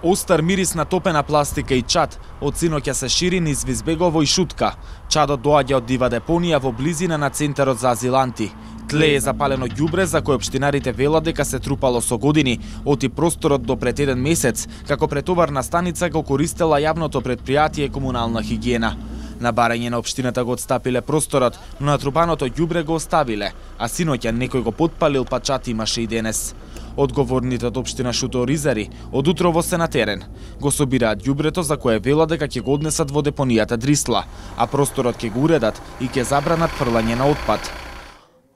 Остар мирис на топена пластика и чад од синоќа се шири низ Визбегово и Шутка. Чадот доаѓа од дива депонија во близина на центарот за азиланти. Тлее запалено ѓубре за кој општинарите велат дека се трупало со години, оти просторот до пред еден месец, како претоварна станица го користела јавното претпријатие комунална хигиена. На барање на општината го отстапиле просторот, но натрупаното ѓубре го оставиле, а синоќа некој го потпалил, па чат имаше и денес. Одговорните од општина Шуто-Оризари од утрово се на терен. Го собираат ѓубрето за кое велат дека ќе го однесат во депонијата Дрисла, а просторот ќе го уредат и ќе забранат фрлање на отпад.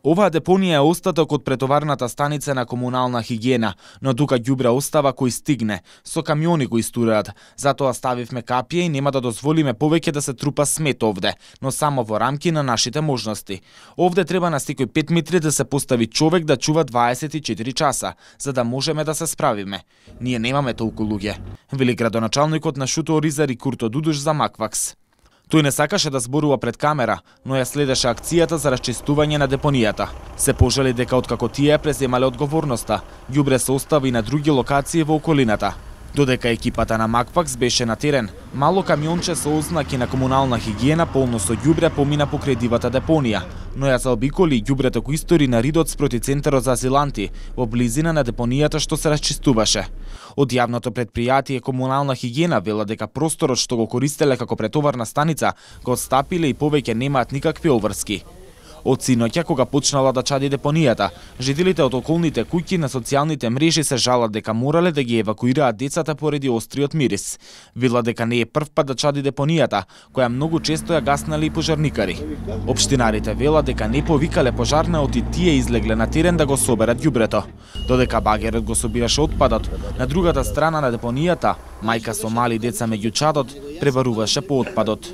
Оваа депонија е остаток од претоварната станица на комунална хигиена, но тука ѓубре остава кој стигне, со камиони кои истураат. Затоа ставивме капија и нема да дозволиме повеќе да се трупа смет овде, но само во рамки на нашите можности. Овде треба на секој 5 метри да се постави човек да чува 24 часа, за да можеме да се справиме. Ние немаме толку луѓе, вели градоначалникот на Шуто-Оризари Курто Дудуш за Маквакс. Тој не сакаше да зборува пред камера, но ја следеше акцијата за расчистување на депонијата. Се пожали дека откако тие ја преземале одговорноста, ѓубре се остави на други локации во околината. Додека екипата на Маквакс беше на терен, мало камионче со ознаки на комунална хигиена полно со ѓубре помина покрај дивата депонија, но ја заобиколи ѓубрето кој истори на ридот спроти центарот за азиланти, во близина на депонијата што се расчистуваше. Од јавното претпријатие комунална хигиена велат дека просторот што го користеле како претоварна станица го отстапиле и повеќе немаат никакви обврски. Од синоќа, кога почнала да чади депонијата, жителите од околните куќи на социјалните мрежи се жалат дека морале да ги евакуираат децата поради остриот мирис. Велат дека не е прв пат да чади депонијата, која многу често ја гаснали и пожарникари. Општинарите велат дека не повикале пожарна, оти тие излегле на терен да го соберат ѓубрето. Додека багерот го собираше отпадот, на другата страна на депонијата, мајка со мали деца меѓу чадот пребаруваше по отпадот.